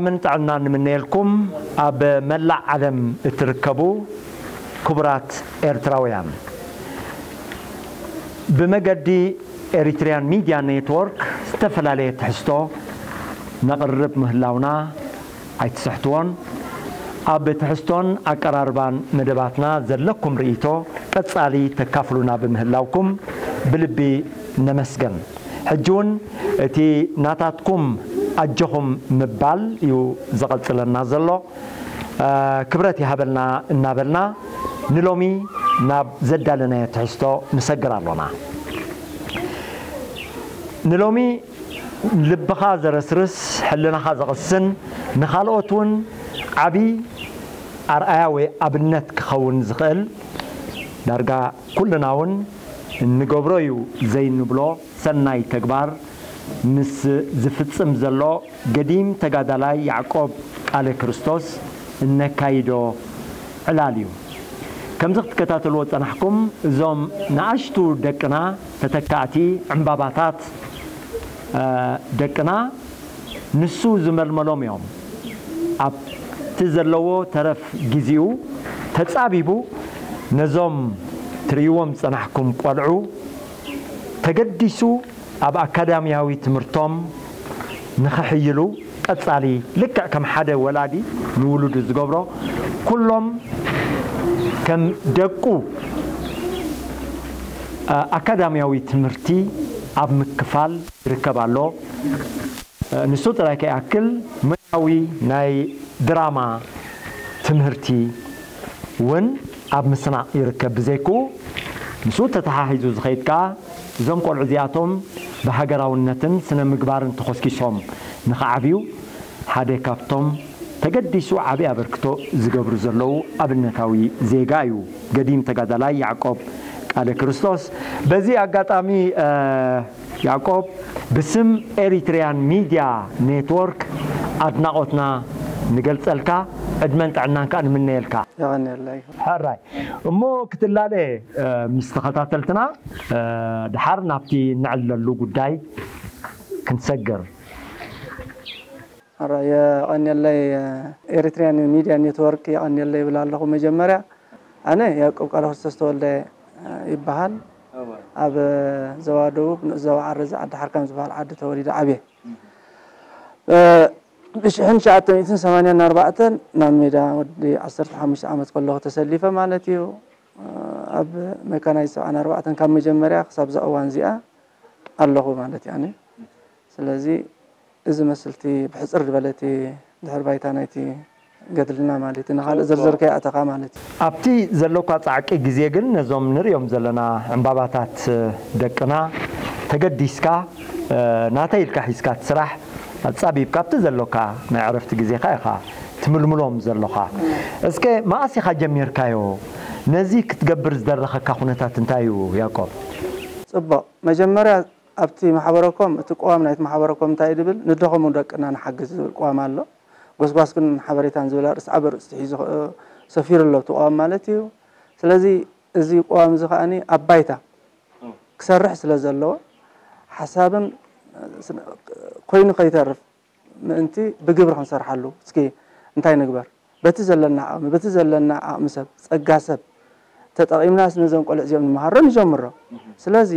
ምን ጥዕና ንምነየልኩም ኣብ መላእ ዓለም እትርከቡ ክቡራት ኤርትራውያን። ብመገዲ ኤሪትሪያን ሚድያ ኔትወርክ ዝተፈላለየ ትሕዝቶ ነቕርብ ምህላውና ኣይትስሕትዎን። ኣብ ትሕዝቶን ኣቀራርባን መደባትና ዘለኩም ርእይቶ ቀጻሊ ተካፍሉና ብምህላውኩም ብልቢ ነመስገን። ሕጂ እውን እቲ ናታትኩም ኣጆኹም ምባል እዩ ዘቐጽለና ዘሎ። ክብረት ይሃበልና እናበልና ንሎሚ ናብ ዘዳለናዮ ትሕዝቶ ንሰግር ኣሎና። ንሎሚ ልብኻ ዘረስርስ፣ ሕልናኻ ዘቕስን፣ ንኻልኦት እውን ዓቢ ኣርኣያ ወይ ኣብነት ክኸውን ዝኽእል፣ ዳርጋ ኩልና እውን እንገብሮ እዩ ዘይንብሎ ሰናይ ተግባር ምስ ዝፍጽም ዘሎ ገዲም ተጋዳላይ ያዕቆብ ቃለ ክርስቶስ እነካይዶ ዕላል እዩ። ከምዚ ክትከታተልዎ ዝጸናሕኩም፣ እዞም ንኣሽቱ ደቅና፣ ተተካእቲ ዕምባባታት ደቅና፣ ንሱ ዝመልመሎም እዮም። ኣብቲ ዘለዎ ተረፍ ግዜኡ ተጻቢቡ ነዞም ትርእይዎም ዝጸናሕኩም ቆልዑ ተገዲሱ ኣብ ኣካዳሚያዊ ትምህርቶም ንኽሕይሉ ቀጻሊ፣ ልክዕ ከም ሓደ ወላዲ ንውሉዱ ዝገብሮ፣ ኩሎም ከም ደቁ ኣካዳሚያዊ ትምህርቲ ኣብ ምክፋል ይርከብ ኣሎ። ንሱ ጥራይ ከይኣክል፣ ሞያዊ ናይ ድራማ ትምህርቲ እውን ኣብ ምስናቕ ይርከብ። ብዘይክኡ፣ ምስኡ ተተሓሒዙ ዝኸይድ ከኣ፣ እዞም ቆልዑ እዚኣቶም ብሃገራውነትን ስነ ምግባርን ተኾስኪሶም ንኽዓብዩ ሓደ ካብቶም ተገዲሱ ዓቢ ኣበርክቶ ዝገብሩ ዘለዉ ኣብነታዊ ዜጋ እዩ፣ ገዲም ተጋዳላይ ያዕቆብ ቃለ ክርስቶስ። በዚ ኣጋጣሚ፣ ያዕቆብ፣ ብስም ኤሪትሪያን ሚድያ ኔትወርክ ኣድናቖትና ንገልጸልካ፣ ዕድመን ጥዕናን ከኣ ንምነየልካ። የቐንየለይ። ሕራይ። እሞ ክትላለ፣ ምስ ተኸታተልትና፣ ድሓር ናብቲ ንዕለሉ ጉዳይ ክንሰግር። ሕራይ፣ የቐንየለይ። ኤሪትሪያን ሚድያ ኔትወርክ የቐንየለይ ይብል ኣለኹ። መጀመርያ፣ ኣነ ያዕቆብ ቃለ ክርስቶስ ተወልደ ይበሃል። ኣብ ዞባ ደቡብ፣ ንኡስ ዞባ ዓረዛ፣ ዓዲ ሓርካም ዝበሃል ዓዲ ተወሊደ ዓብየ። ብሽሕን ትሽዓተ ሚእትን ሰማንያን ኣርባዕተን ናብ ሜዳ ወዲ ዓሰርተ ሓሙሽተ ዓመት ከለኹ ተሰሊፈ ማለት እዩ። ኣብ መካናይዝ ሰብዓን ኣርባዕተን ካብ መጀመርያ ክሳብ እዛ እዋን እዚኣ ኣለኹ ማለት እዩ ኣነ። ስለዚ እዚ መስልቲ ብሕጽር ዝበለቲ ድሕር ባይታ ናይቲ ገድልና ማለት እዩ። ንኻልእ ዝርዝር ከይኣተኻ ማለት እዩ። ኣብቲ ዘሎካ ጻዕቂ ግዜ ግን ነዞም ንርእዮም ዘለና ዕምባባታት ደቅና ተገዲስካ፣ ናተይ ኢልካ ሒዝካ እቲ ስራሕ ኣጻቢብካ ኣብቲ ዘሎካ ናይ ዕረፍቲ ግዜኻ ኢኻ ትምልምሎም ዘሎኻ። እስከ መኣስ ኢኻ ጀሚርካዮ? ነዚ ክትገብር ዝደረኸካ ኩነታት እንታይ እዩ ያዕቆብ? ጽቡቕ። መጀመርያ ኣብቲ ማሕበረኮም፣ እቲ ቅዋም ናይቲ ማሕበረኮም እንታይ እዩ ዝብል? ንደኸሙ ደቅና ንሓግዝ ዝብል ቅዋም ኣሎ። ጎስጓስን ሓበሬታን ዝብል ኣርእስቲ ዓቢ ኣርእስቲ ሒዙ፣ እ፣ ሰፊሩ ኣሎ እቲ ቅዋም ማለት እዩ። ስለዚ እዚ ቅዋም እዚ ከኣኒ ኣብ ባይታ ክሰርሕ ስለ ዘለዎ፣ ሓሳብን፣ እ፣ ስነ-፣ ኮይኑ ከይተርፍ ምእንቲ ብግብሪ ክንሰርሓሉ፣ እስኪ እንታይ ንግበር? በቲ ዘለና ዓቕሚ፣ በቲ ዘለና ዓቕሚ ሰብ፣ ጸጋ ሰብ ተጠቒምናስ ነዞም ቆልዑ እዚኦም ንምሃሮ ንጀምሮ። ስለዚ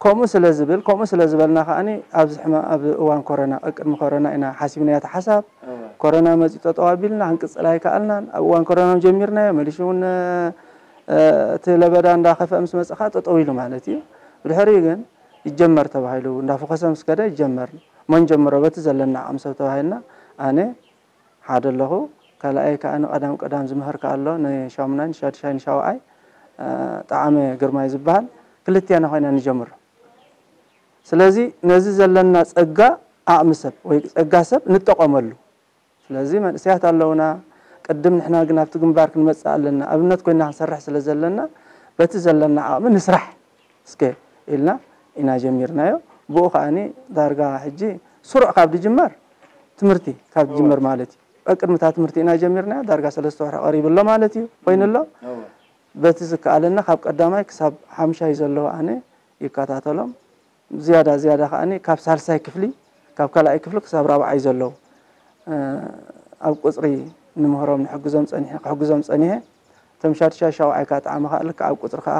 ከምኡ ስለ ዝብል፣ ከምኡ ስለ ዝበልና ከኣኒ ኣብዚ ሕማ-፣ ኣብ እዋን ኮረና፣ ቅድሚ ኮረና ኢና ሓሲብናዮ እቲ ሓሳብ። እወ። ኮረና መጺኡ ጠጠው ኣቢልና ክንቅጽል ኣይከኣልናን። ኣብ እዋን ኮረና እውን ጀሚርናዮ፣ መሊሱ እውን፣ እ፣ እቲ ለበዳ እንዳኸፍአ ምስ መጸ ከኣ ጠጠው ኢሉ ማለት እዩ። ብድሕሪኡ ግን ይጀመር ተባሂሉ፣ እንዳፈኾሰ ምስ ከደ ይጀመር። መን ጀምሮ በቲ ዘለና ዓቕሚ ሰብ ተባሂልና፣ ኣነ ሓደ ኣለኹ። ካልኣይ ከኣ ንቀዳም ቀዳም ዝምህር ከኣ ኣሎ፣ ንሻሙናይ፣ ንሻድሻይ፣ ንሻውዓይ፣ እ፣ ጠዓመ ግርማይ ዝበሃል፣ ክልቲኣና ኮይና ንጀምሮ። ስለዚ ነዚ ዘለና ጸጋ ዓቕሚ ሰብ ወይ ጸጋ ሰብ ንጠቐመሉ። ስለዚ መንእሰያት ኣለውና፣ ቅድም ንሕና ግን ኣብቲ ግንባር ክንመጽእ ኣለና፣ ኣብነት ኮይና ክንሰርሕ ስለ ዘለና በቲ ዘለና ዓቕሚ ንስራሕ እስከ ኢልና ኢና ጀሚርናዮ። ብኡ ከኣኒ ዳርጋ ሕጂ ስሩዕ ካብ ዝጅመር፣ ትምህርቲ ካብ ዝጅመር ማለት እዩ። ቅድሚ እታ ትምህርቲ ኢና ጀሚርናዮ፣ ዳርጋ ሰለስተ ወርሒ ቀሪቡ ኣሎ ማለት እዩ፣ ኮይኑ ኣሎ። እወ። በቲ ዝከኣለና ካብ ቀዳማይ ክሳብ ሓምሻይ ዘለዉ ኣነ ይከታተሎም። ዝያዳ ዝያዳ ከኣኒ ካብ ሳልሳይ ክፍሊ፣ ካብ ካልኣይ ክፍሊ ክሳብ ራብዓይ ዘለዉ። ኣብ ቁፅሪ ንምህሮም ንሕግዞም ፀኒሐ ክሕግዞም ፀኒሐ። እቶም ሻድሻይ ሻውዓይ ከዓ ጣዕሚ ከዓ ልክዕ ኣብ ቁፅሪ ከዓ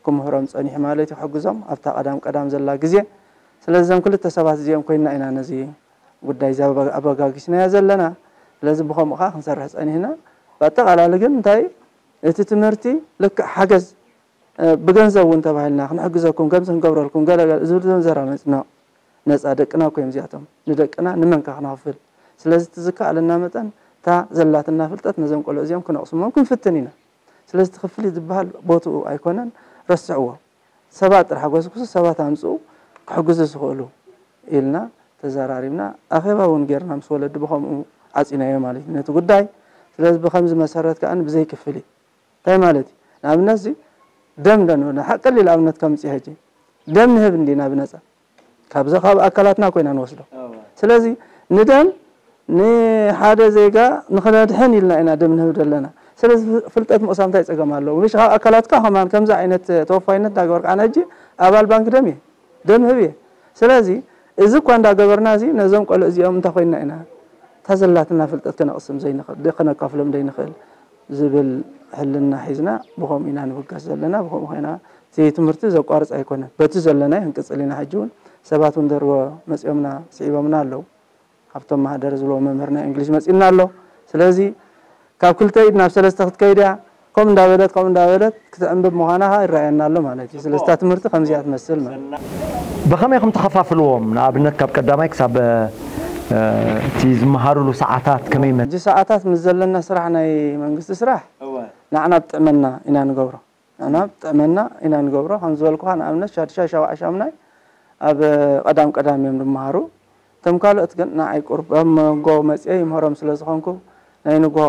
ክምህሮም ፀኒሐ ማለት እዩ። ክሕግዞም ኣብታ ቀዳም ቀዳም ዘላ ግዜ። ስለዚ እዞም ክልተ ሰባት እዚኦም ኮይና ኢና ነዚ ጉዳይ እዚ ኣበጋጊስናዮ ዘለና። ስለዚ ብኸምኡ ከዓ ክንሰርሕ ፀኒሕና። ብኣጠቓላሊ ግን እንታይ እቲ ትምህርቲ ልክዕ ሓገዝ ብገንዘብ እውን ተባሂልና ክንሕግዘኩም ከምዚ ክንገብረልኩም ገለገለ ዝብል ዘንዘራ መፅና ነፃ ደቅና እኮ እዮም እዚኣቶም። ንደቅና ንመንካ ክነኽፍል? ስለዚ እቲ ዝከኣለና መጠን እታ ዘላትና ፍልጠት ነዞም ቆልዑ እዚኦም ክነቕስሞም ክንፍትን ኢና። ስለዚ እቲ ክፍሊት ዝበሃል ቦትኡ ኣይኮነን፣ ረስዕዎ። ሰባት ጥራሕ ጎስጉሱ፣ ሰባት ኣምፅኡ ክሕግዙ ዝኽእሉ ኢልና ተዘራሪብና ኣኼባ እውን ጌርና ምስ ወለዲ ብኸምኡ ዓፂናዮ ማለት እዩ ነቲ ጉዳይ። ስለዚ ብኸምዚ መሰረት ከዓ ብዘይ ክፍሊት እንታይ ማለት እዩ? ንኣብነት እዚ ደም ደንበና ሓቀሊል ኣብነት ከምፅእ ሕጂ ደም ንህብ እንዲና ብነፃ ካብዚ ካብ ኣካላትና ኮይና ንወስዶ። ስለዚ ንደም ንሓደ ዜጋ ንክነድሕን ኢልና ኢና ደም ንህብ ዘለና። ስለዚ ፍልጠት ምቕሳም እንታይ ፀገም ኣለዎ? ምሽ ካብ ኣካላትካ ከማን ከምዚ ዓይነት ተወፋይነት እንዳገበርካ ኣነ ሕጂ ኣባል ባንክ ደም እየ ደም ህብ እየ። ስለዚ እዚ እኳ እንዳገበርና እዚ ነዞም ቆልዑ እዚኦም እንታይ ኮይና ኢና እታ ዘላትና ፍልጠት ክነቕስም ዘይንኽእል ደ- ክነካፍሎም ዘይንኽእል ዝብል ሕልና ሒዝና ብኸምኡ ኢና ንብገስ ዘለና። ብኸምኡ ኮይና እቲ ትምህርቲ ዘቋርፅ ኣይኮነን። በቲ ዘለናይ ክንቅፅል ኢና። ሕጂ እውን ሰባት እውን ደርቦ መፂኦምና ስዒቦምና ኣለዉ። ካብቶም ማህደር ዝብሎ መምህር ናይ እንግሊሽ መፂና ኣሎ። ስለዚ ካብ ክልተ ኢድ ናብ ሰለስተ ክትከይድ እያ። ከምኡ እንዳበለት ከምኡ እንዳበለት ክትዕንብብ ምዃና ከዓ ይረኣየና ኣሎ ማለት እዩ። ስለዚ እታ ትምህርቲ ከምዚኣ ትመስል ማለት እዩ። ብኸመይ ኢኹም ተኸፋፍልዎም? ንኣብነት ካብ ቀዳማይ ክሳብ እቲ ዝመሃሩሉ ሰዓታት ከመይ ይመ- እዚ ሰዓታት ምስ ዘለና ስራሕ ናይ መንግስቲ ስራሕ ንዓና ብጥዕመና ኢና ንገብሮ። ንዓና ብጥዕመና ኢና ንገብሮ። ከም ዝበልኩኻ ንኣብነት ሻድሻይ ሻውዓይ ሻምናይ ኣብ ቀዳም ቀዳም እዮም ዝመሃሩ። እቶም ካልኦት ግን ንዓይ ቁርብ ኣብ መንጎ መፅየ ይምህሮም ስለ ዝኾንኩ ናይ ንግሆ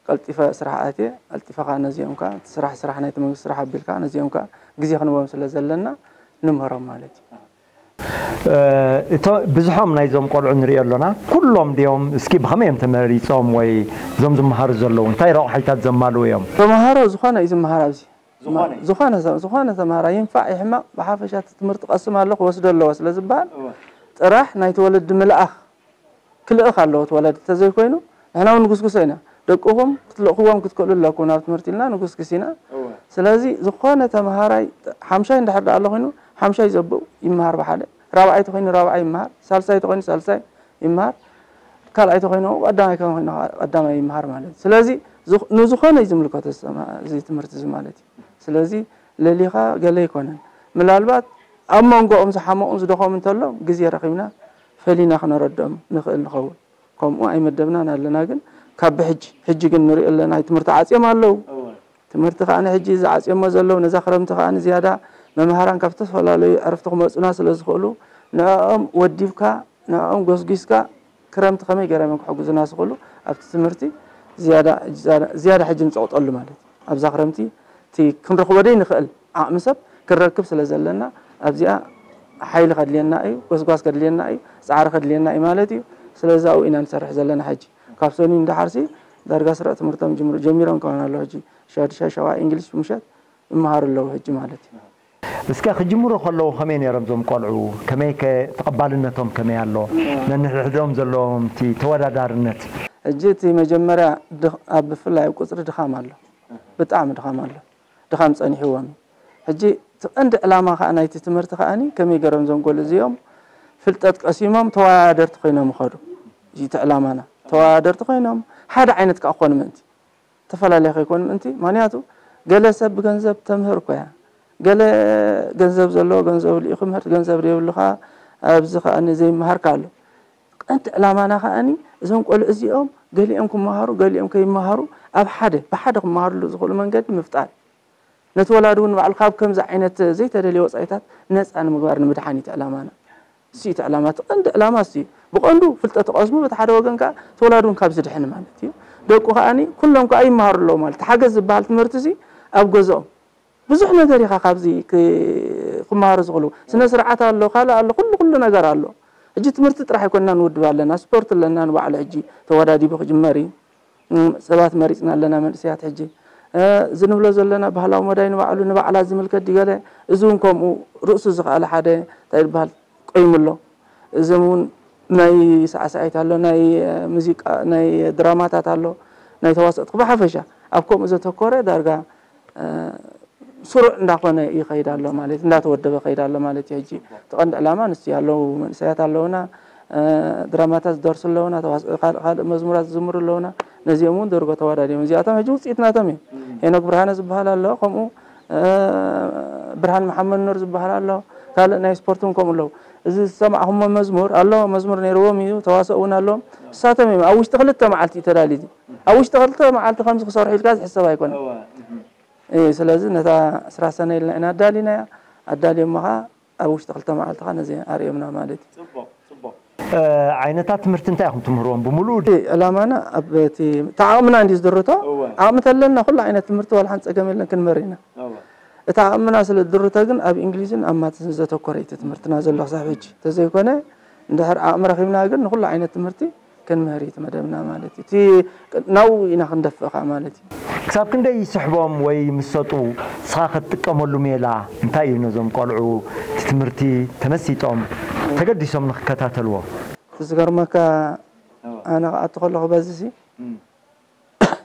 ቀልጢፈ ስራሕ ኣትየ ቀልጢፈ ከዓ ነዚኦም ከዓ እቲ ስራሕ ስራሕ ናይቲ መንግስቲ ስራሕ ኣቢልካ ነዚኦም ከዓ ግዜ ክንቦም ስለ ዘለና ንምህሮም ማለት እዩ። እቶ ብዙሖም ናይዞም ቆልዑ ንሪኦ ኣሎና ኩሎም ድዮም እስኪ ብኸመይ እዮም ተመሪፆም ወይ እዞም ዝመሃሩ ዘለዉ እንታይ ረቑሓይታት ዘማልኡ እዮም? ተምሃሮ ዝኾነ እዩ ዝመሃር ኣብዚ ዝኾነ ዝኾነ ተምሃራ ይንፋዕ ይሕማቕ ብሓፈሻ እቲ ትምህርቲ ቀስም ኣሎ ክወስዶ ኣለዎ ስለ ዝበሃል ጥራሕ ናይቲ ወለዲ ምልኣኽ ክልእኽ ኣለዎ እቲ ወለዲ እንተዘይኮይኑ ንሕና እውን ንጉስጉሶ ኢና ደቅኹም ክትልእኽዎም ክትክእሉ ኣለኩም ናብ ትምህርቲ ኢልና ንጉስግስ ኢና ስለዚ ዝኾነ ተምሃራይ ሓምሻይ እንድሕር ደኣ ኣሎ ኮይኑ ሓምሻይ ዘብኡ ይመሃር ብሓደ ራብዓይ ተኮይኑ ራብዓይ ይመሃር ሳልሳይ ተኮይኑ ሳልሳይ ይመሃር ካልኣይ ተኮይኑ ቀዳማይ ከኮይኑ ቀዳማይ ይመሃር ማለት እዩ ስለዚ ንዝኾነ እዩ ዝምልከቶ እዚ ትምህርቲ እዚ ማለት እዩ ስለዚ ለሊኻ ገለ ኣይኮነን። ምናልባት ኣብ መንጎኦም ዝሓመቑን ዝደኸሙ እንተሎ ግዜ ረኺብና ፈሊና ክነረድኦም ንኽእል ንኸውን። ከምኡ ኣይመደብናን ኣለና ግን ካብ ብሕጂ ሕጂ ግን ንሪኦ ኣለና ትምህርቲ ዓፅዮም ኣለዉ። ትምህርቲ ከዓ ሕጂ ዝዓፅዮሞ ዘለዉ ነዛ ክረምቲ ከዓ ዝያዳ መምሃራን ካብ ዝተፈላለዩ ዕርፍቲ ክመፁና ስለ ዝኽእሉ ንዕኦም ወዲብካ ንዕኦም ጎስጒስካ ክረምቲ ከመይ ገይሮም እዮም ክሕግዙና ዝኽእሉ ኣብቲ ትምህርቲ ዝያዳ ዝያዳ ሕጂ ንፀቕጠሉ ማለት እዩ ኣብዛ ክረምቲ እቲ ክንረኽቦ ደይ ንኽእል ዓቕሚ ሰብ ክንረክብ ስለ ዘለና ኣብዚኣ ሓይሊ ከድልየና እዩ ጎስጓስ ከድልየና እዩ ፃዕሪ ከድልየና እዩ ማለት እዩ ስለዚ ኣብኡ ኢና ንሰርሕ ዘለና ሕጂ ካብ ሰኑይ እንዳሓርሲ ዳርጋ ስረዕ ትምህርቶም ጅምሩ ጀሚሮም ከማን ኣለዉ ሕጂ ሻድሻይ ሸውዓይ እንግሊሽ ምሸት ይመሃሩ ኣለዉ ሕጂ ማለት እዩ እስከ ክጅምሩ ከለዉ ከመይ ነይሮም ዞም ቆልዑ? ከመይ ከ ተቐባልነቶም ከመይ ኣሎ? ነንሕድሕዶም ዘለዎም እቲ ተወዳዳርነት? ሕጂ እቲ መጀመርያ ድኽ- ኣብ ብፍላይ ኣብ ቁፅሪ ድኻም ኣሎ። ብጣዕሚ ድኻም ኣሎ። ድኻም ፀኒሕዎም እዩ። ሕጂ እቲ ቀንዲ ዕላማ ከዓ ናይቲ ትምህርቲ ከዓኒ ከመይ ገይሮም ዞም ቆልዑ እዚኦም ፍልጠት ቀሲሞም ተወዳደርቲ ኮይኖም ይኸዱ። እዚ እቲ ዕላማና ተወዳደርቲ ኮይኖም ሓደ ዓይነት ከዓ ክኾኑ ምእንቲ ተፈላለየ ከይኮን ምእንቲ ምክንያቱ ገለ ሰብ ብገንዘብ ተምህር እኮ እያ ገለ ገንዘብ ዘለዎ ገንዘብ ልኢኹ ምህርቲ ገንዘብ ዘይብሉ ከዓ ኣብዚ ከዓ ዘይመሃር ከዓ ኣሎ ቀንዲ ዕላማና ከዓኒ እዞም ቆልዑ እዚኦም ገሊኦም ክመሃሩ ገሊኦም ከይመሃሩ ኣብ ሓደ ብሓደ ክመሃርሉ ዝኽእሉ መንገዲ ምፍጣር እዩ ነቲ ወላዲ እውን ባዕሉ ካብ ከምዚ ዓይነት ዘይተደልየ ወፃኢታት ነፃ ንምግባር ንምድሓን እዩ እቲ ዕላማና እሱ እቲ ዕላማ እቲ ቀንዲ ዕላማ እሱ እዩ። ብቐንዱ ፍልጠት ትቐስሙ በቲ ሓደ ወገን ከዓ እቲ ወላዲ እውን ካብ ዝድሕን ማለት እዩ። ደቁ ከዓኒ ኩሎም ከዓ ይመሃሩ ኣለዉ ማለት እቲ ሓገዝ ዝበሃል ትምህርቲ እዚ ኣብ ገዝኦም ብዙሕ ነገር ኢኻ ካብዚ ክመሃሩ ዝኽእሉ ስነ ስርዓት ኣሎ ካልእ ኣሎ ኩሉ ኩሉ ነገር ኣሎ። ሕጂ ትምህርቲ ጥራሕ ኣይኮንና ንውድብ ኣለና ስፖርት ኣለና ንባዕሉ ሕጂ ተወዳዲቡ ክጅመር እዩ። ሰባት መሪፅና ኣለና መንእሰያት ሕጂ እዚ ንብሎ ዘለና ባህላዊ መዳይ ንባዕሉ ንባዕላ ዝምልከት ድገለ እዚ እውን ከምኡ ርእሱ ዝኸኣለ ሓደ እንታይ ዝበሃል ቆይሙ ኣሎ እዞም እውን ናይ ሳዕሳዒት ኣሎ፣ ናይ ሙዚቃ፣ ናይ ድራማታት ኣሎ፣ ናይ ተዋሰእቲ ብሓፈሻ ኣብ ከምኡ ዘተኮረ ዳርጋ ስሩዕ እንዳኾነ ይኸይድ ኣሎ ማለት፣ እንዳተወደበ ይኸይድ ኣሎ ማለት እዩ። ሕጂ እቲ ቀንዲ ዕላማ ንሱ ኣለዉ፣ መንእሰያት ኣለዉና፣ ድራማታት ዝደርሱ ኣለዉና፣ ካልእ መዝሙራት ዝዝምሩ ኣለዉና። ነዚኦም እውን ደርጎ ተዋዳዲኦም፣ እዚኣቶም ሕጂ ውፅኢት ናቶም እዮም። ሄኖክ ብርሃነ ዝበሃል ኣሎ፣ ከምኡ ብርሃን መሓመድ ኑር ዝበሃል ኣሎ፣ ካልእ ናይ ስፖርት እውን ከምኡ ኣለዉ። እዚ ዝሰማዕኹሞ መዝሙር ኣሎ፣ መዝሙር ነይርዎም እዩ፣ ተዋሰእ እውን ኣለዎም። እሳቶም እዮም ኣብ ውሽጢ ክልተ መዓልቲ እዩ ተዳልዩ። ኣብ ውሽጢ ክልተ መዓልቲ ከምዚ ክሰርሑ ኢልካ ዝሕሰብ ኣይኮነን። ስለዚ ነታ ስራ ሰነ ኢልና ኢና ኣዳሊናያ። ኣዳልዮሞ ኸዓ ኣብ ውሽጢ ክልተ መዓልቲ ኸዓ ነዚ ኣርእዮምና ማለት እዩ። ዓይነታት ትምህርቲ እንታይ ኢኹም ትምህርዎም ብምሉኡ? ዕላማና ኣብ እቲ ዓቕምና እንዲ ዝድርቶ። ዓቕሚ ተለና ኩሉ ዓይነት ትምህርቲ ዋላ ሓንቲ ፀገም የለን፣ ክንምህር ኢና። እቲ ዓቕምና ስለ ዝድርቶ ግን ኣብ እንግሊዝን ኣብ ማትስን ዘተኮረ እዩ እቲ ትምህርትና ዘሎ ክሳብ ሕጂ። ተዘይኮነ እንድሕር ዓቕሚ ረኺብና ግን ንኹሉ ዓይነት ትምህርቲ ክንምህር እዩ እቲ መደብና ማለት እዩ። እቲ ናብኡ ኢና ክንደፍእ ከዓ ማለት እዩ። ክሳብ ክንደይ ይስሕቦም ወይ ምስ ሰጡ ንስኻ ክትጥቀመሉ ሜላ እንታይ እዩ ነዞም ቆልዑ እቲ ትምህርቲ ተመሲጦም ተገዲሶም ንክከታተልዎ? እቲ ዝገርመካ ኣነ ክኣቱ ከለኹ በዚ ሲ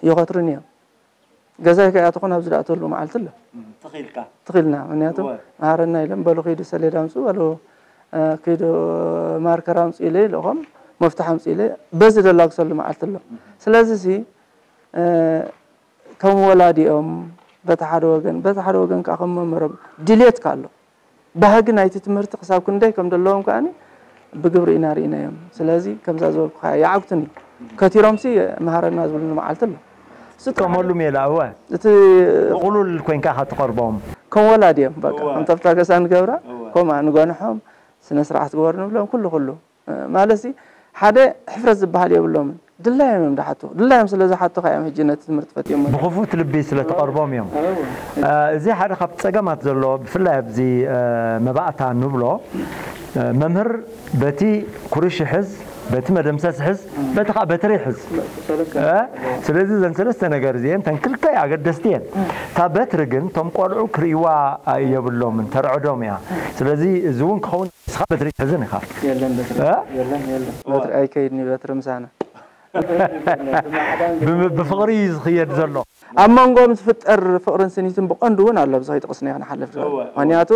ይኸትሩኒ እዮም። ገዛይ ከይኣተኹ ናብዚ ዝኣተሉ መዓልቲ ኣሎ። ትኽ ኢልካ? ትኽ ኢልና። ምኽንያቱ መሃረና ኢሎም በሉ ኪዱ ሰሌዳ ኣምፅኡ በሉ ኪዱ ማርከር ኣምፅኡ ኢለ ይልእኾም መፍትሕ ኣምፅኡ ኢለ በዚ ደላግሰሉ መዓልቲ ኣሎ። ስለዚ ሲ ከም ወላዲኦም በቲ ሓደ ወገን በቲ ሓደ ወገን ከዓ ከም መምህሮም ድልየትካ ኣሎ። ባህጊ ናይቲ ትምህርቲ ክሳብ ክንደይ ከም ዘለዎም ከኣ ብግብሪ ኢና ርኢናዮም። ስለዚ ከምዛ ዝበልኩኻ ይዓግቱኒ። ከቲሮምሲ መሃረና ዝብሉኒ መዓልቲ ኣሎ። ስጠመሉ ሜላ እወ እቲ ብቕሉል ኮይንካ ኢኻ ትቐርቦም። ከም ወላዲ እዮም በቃ ከምቲ ኣብታ ገዛ ንገብራ ከምኣ ንገንሖም ስነ ስርዓት ግበሩ ንብሎም ኩሉ ኩሉ ማለት ሓደ ሕፍረት ዝበሃል የብሎምን። ድላዮም እዮም ዝሓቱ። ድላዮም ስለ ዝሓቱ ከ እዮም ሕጂ ነቲ ትምህርቲ ፈትዮሞ። ብኽፉት ልቢ ስለ ትቐርቦም እዮም። እዚ ሓደ ካብቲ ጸገማት ዘሎ ብፍላይ ኣብዚ መባእታ ንብሎ መምህር በቲ ኩርሽ ይሕዝ፣ በቲ መደምሰስ ይሕዝ፣ በቲ ከዓ በትሪ ይሕዝ። ስለዚ እዘን ሰለስተ ነገር እዚአን ተን ክልተ ኣገደስቲ እየን። እታ በትሪ ግን እቶም ቆልዑ ክርእይዋ የብሎምን፣ ተርዕዶም እያ። ስለዚ እዚ እውን ክኸውን ንስኻ በትሪ ትሕዝን ኢኻ። የለን በትሪ እ? የለን የለን። በትሪ ኣይከይድን እዩ በትሪ ምሳና። ብም- ብፍቕሪ እዩ ዝኽየድ ዘሎ። ኣብ መንጎኦም ዝፍጠር ፍቕርን ስኒትን ብቐንዱ እውን ኣሎ ኣብዚ ከይጠቕስናዮ ክንሓልፍ ዶ እወ፣ እወ። ምክንያቱ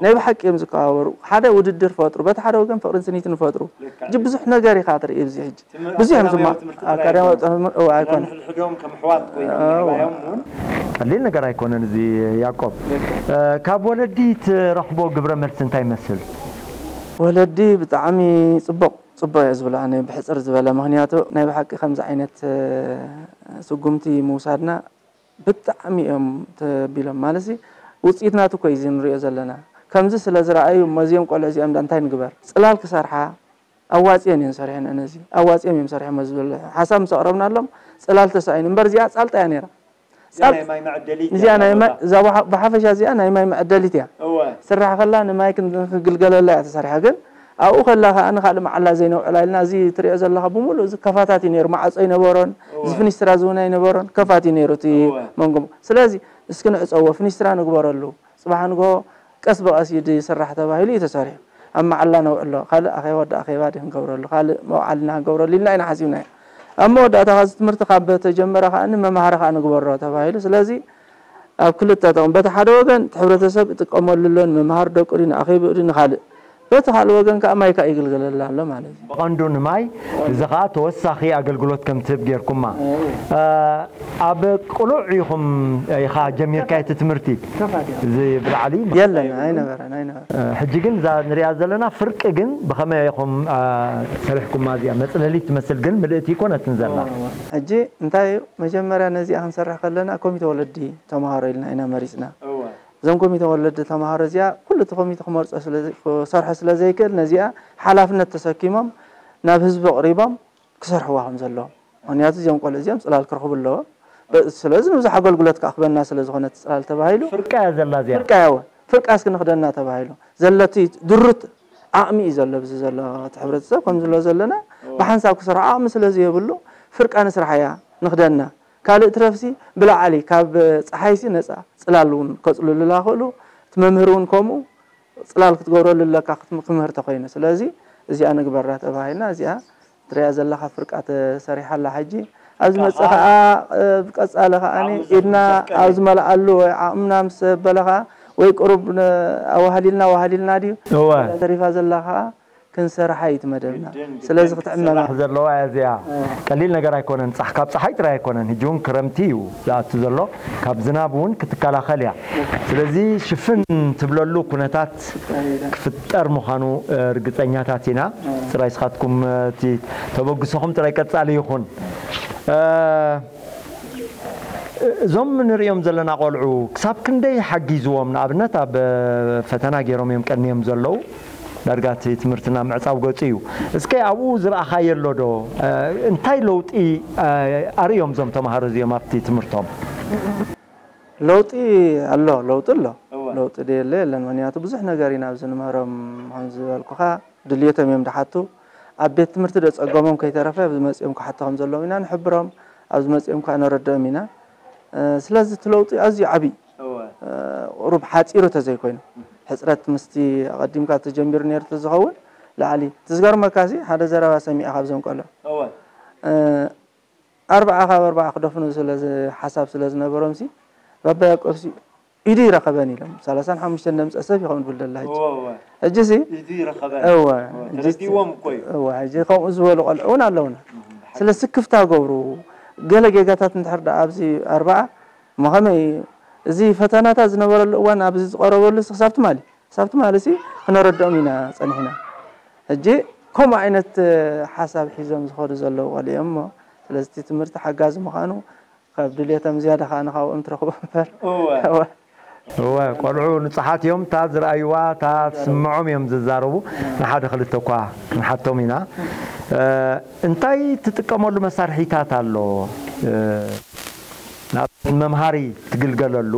ናይ ብሓቂ እዮም ዝከባበሩ ሓደ ውድድር ፈጥሩ በቲ ሓደ ወገን ፍቕርን ስኒትን ይፈጥሩ ሕጂ ብዙሕ ነገር ኢኻ ትርኢ ኣብዚ ሕጂ ብዙሕ እዮም ዝማ ኣካዳሚ ጥዕና እወ ኣይኮነ ሕድሕዶም ከም ኣሕዋት ኮይኖም ምዕባዮም እውን ቀሊል ነገር ኣይኮነን እዚ ያዕቆብ። ካብ ወለዲ ትረኽቦ ግብረ መልሲ እንታይ ይመስል? ወለዲ ብጣዕሚ ፅቡቕ ፅቡቕ እየ ዝብሎ ኣነ ብሕፅር ዝበለ ምኽንያቱ ናይ ብሓቂ ከምዚ ዓይነት ስጉምቲ ምውሳድና ብጣዕሚ እዮም ተቢሎም ማለት ውፅኢት ናቱ እኮ እዩ ንሪኦ ዘለና ከምዚ ስለ ዝረኣዩ እሞ እዚኦም ቆልዑ እዚኦም እንታይ ንግበር ፅላል ክሰርሓ ኣዋፅየን እየን ሰሪሐን ነዚ ኣዋፅዮም እዮም ሰሪሖሞ ዝብል ሓሳብ ምስ ኣቕረብናሎም ፅላል ተሳኢኑ እምበር እዚኣ ፃልጣ እያ ነይራ እዚኣ ናይ ማይ መዐደሊት እያ እዛ ብሓፈሻ እዚኣ ናይ ማይ መዐደሊት እያ ስራሕ ከላ ንማይ ክግልገለላ እያ ተሰሪሓ ግን ኣብኡ ከላ ከዓ ንካልእ መዓላ ዘይነውዕላ ኢልና እዚ ትሪኦ ዘለካ ብምሉእ እዚ ከፋታት እዩ ነይሩ ማዓፆ ይነበሮን እዚ ፍኒስትራ ዝውና ይነበሮን ከፋት እዩ ነይሩ እቲ መንጎም ስለዚ እስኪ ንዕፀዎ ፍኒስትራ ንግበረሉ ፅባሕ ንግሆ ቀስ ብቐስ እዩ ዝስራሕ ተባሂሉ እዩ ተሰሪሑ ኣብ መዓላ ነውዕሎ ካልእ ኣኼባ ወዲ ኣኼባ ድዩ ክንገብረሉ ካልእ መውዓልና ክንገብረሉ ኢልና ኢና ሓሲብናዮ ኣብ መወዳእታ ከዚ ትምህርቲ ካብ ተጀመረ ከዓ ንመምሃሪ ከዓ ንግበሮ ተባሂሉ ስለዚ ኣብ ክልተ ጥቕሚ በቲ ሓደ ወገን እቲ ሕብረተሰብ ይጥቀመሉ ኣሎ ንምምሃር ደቁ ድዩ ንኣኼብኡ ድዩ ንካልእ በቲ ካልእ ወገን ከዓ ማይ ከዓ ይግልገለላ ኣሎ ማለት እዩ ብቐንዱ ንማይ እዚ ከዓ ተወሳኺ ኣገልግሎት ከም ትህብ ጌርኩማ ኣብ ቅሉዕ ኢኹም ኢኻ ጀሚርካ እቲ ትምህርቲ እዚ ብላዕሊ የለን ኣይነበረን ኣይነበረን ሕጂ ግን እዛ ንሪኣ ዘለና ፍርቂ ግን ብኸመይ ኢኹም ሰሪሕኩማ እዚኣ መፅለሊት ትመስል ግን ምልእቲ ይኮነትን ዘላ ሕጂ እንታይ እዩ መጀመርያ ነዚኣ ክንሰርሕ ከለና ኮሚተ ወለዲ ተምሃሮ ኢልና ኢና መሪፅና እዞም ኮሚተ ወለዲ ተምሃሮ እዚኣ ኩሉ እቲ ኮሚተ ክመርፆ ክሰርሖ ስለ ዘይክእል ነዚኣ ሓላፍነት ተሰኪሞም ናብ ህዝቢ ኣቕሪቦም ክሰርሕዋ ከም ዘለዎም ምክንያቱ እዚኦም ቆልዑ እዚኦም ፅላል ክረኽቡ ኣለዎም ስለዚ ንብዙሕ ኣገልግሎት ከዓ ክበና ስለ ዝኾነ እቲ ፅላል ተባሂሉ ፍርቃ እያ ዘላ እዚኣ ፍርቃ እያ እወ ፍርቃ እስኪ ንኽደና ተባሂሉ ዘለቲ ድሩት ዓቕሚ እዩ ዘሎ ብዚ ዘሎ እቲ ሕብረተሰብ ከም ዝብሎ ዘለና ብሓንሳብ ክሰርሖ ዓቕሚ ስለ ዘየብሉ ፍርቃ ንስራሕ እያ ንኽደና ካልእ ትረፍሲ ብላዕሊ ካብ ፀሓይሲ ነፃ ፅላል እውን ከፅልሉላ ክእሉ እቲ መምህር እውን ከምኡ ፅላል ክትገብረሉ ኣለካ ክምህር ተኮይኑ ስለዚ እዚኣ ንግበራ ተባሂልና፣ እዚኣ ትሪኣ ዘለኻ ፍርቃ ተሰሪሓ ኣላ። ሕጂ ኣብ ዝመጽእ ከኣ፣ እ፣ ብቀጻሊ ከኣ ኢድና ኣብ ዝመልኣሉ ወይ ዓቕምና ምስ በለ ከኣ ወይ ቁሩብ ን-፣ ኣዋህሊልና፣ ኣዋህሊልና ድዩ? እወ። ተሪፋ ዘላ ከኣ ክንሰርሓ እዩ እቲ መደብና። ግድን፣ ግድን ስለዚ ክትዕመማ ክትስራሕ ዘለዋ እያ እዚኣ። ቀሊል ነገር ኣይኮነን። ጻሕ-፣ ካብ ጸሓይ ጥራይ ኣይኮነን። ሕጂ እውን ክረምቲ እዩ ዝኣቱ ዘሎ። ካብ ዝናብ እውን ክትከላኸል እያ። ስለዚ ሽፍን ትብለሉ ኩነታት ክፍጠር ምዃኑ፣ እ፣ ርግጸኛታት ኢና። ጽራይ ስኻትኩም፣ እ፣ እቲ ተበግሶኹም ጥራይ ቀጻሊ ይኹን። እ፣ እዞም ንርእዮም ዘለና ቆልዑ ክሳብ ክንደይ ሓጊዝዎም? ንኣብነት ኣብ ፈተና ገይሮም እዮም ቀንዮም ዘለዉ። ዳርጋ እቲ ትምህርትና ምዕጻው ገጹ እዩ። እስከ ኣብኡ ዝረኣኻዮ ኣሎ ዶ? እ፣ እንታይ ለውጢ፣ እ፣ ኣርእዮም እዞም ተማሃሮ እዚኦም ኣብቲ ትምህርቶም? ለውጢ ኣሎ፣ ለውጢ ኣሎ። እወ። ለውጢ ደየለ የለን። ምኽንያቱ ብዙሕ ነገር ኢና ኣብዚ ንምህሮም፣ ከም ዝበልኩኻ ድልየቶም እዮም ድሓቱ። ኣብ ቤት ትምህርቲ ዶ ጸገሞም ከይተረፈ ኣብዚ መጺኦም ክሓቱ ከም ዘለዎም ኢና ንሕብሮም፣ ኣብዚ መጺኦም ከኣ ነረድኦም ኢና። እ፣ ስለዚ እቲ ለውጢ ኣዝዩ ዓቢ እዩ። እወ። እ፣ ቁሩብ ሓጺሩ ተዘይኮይኑ፣ ሕጽረት ምስቲ ኣቐዲምካ ተጀሚሩ ነይሩ ተዝኸውን ላዕሊ። እቲ ዝገርመካሲ ሓደ ዘረባ ሰሚዐ ካብዞም ቆልዑ። እወ። እ፣ ኣርብዓ ካብ ኣርብዓ ክደፍኑ ስለ ዝ-፣ ሓሳብ ስለ ዝነበሮምሲ፣ ባባ ያዕቆብሲ ኢዱ ይረኸበን ኢሎም። ሰላሳን ሓሙሽተን ደምጸ ሰብ ይኸውን ብልደላ ሕጂ። እወ፣ እወ። ሕጂሲ? ኢዱ ይረኸበን። እወ። እወ፣ ሕጂሲ? ተረዲዎም እኮ እዩ። እወ፣ ሕጂ ከምኡ ዝበሉ ቆልዑ እውን ኣለውና። እም፣ ስለ ስክፍታ ገብሩ፣ ገለ ጌጋታት እንድሕር ደኣ ኣብዚ ኣርብዓ፣ እሞ ከመይ እዚ ፈተናታት ዝነበረሉ እዋን ኣብዚ ዝቐረበሉ ክሳብ ትማሊ፣ ክሳብ ትማሊ ሲ ክነረድኦም ኢና ጸኒሕና። ሕጂ ከምኡ ዓይነት ሓሳብ ሒዞም ዝኸዱ ዘለዉ ቆልዑ እዮም እሞ፣ ስለዚ እቲ ትምህርቲ ሓጋዚ ምዃኑ ካብ ድልየቶም ዝያዳ ከኣ ንኻብኦም ትረኽቦ እምበር። እወ። እወ። እወ፣ ቆልዑ ንጹሓት እዮም። እታ ዝረኣይዋ፣ እታ ትስምዖም እዮም ዝዛረቡ። ንሓደ ክልተ እኳ ክንሓቶም ኢና። እ፣ እንታይ ትጥቀመሉ መሳርሒታት ኣሎ? እ፣ ንኣብነት ንመምሃሪ ትግልገለሉ፣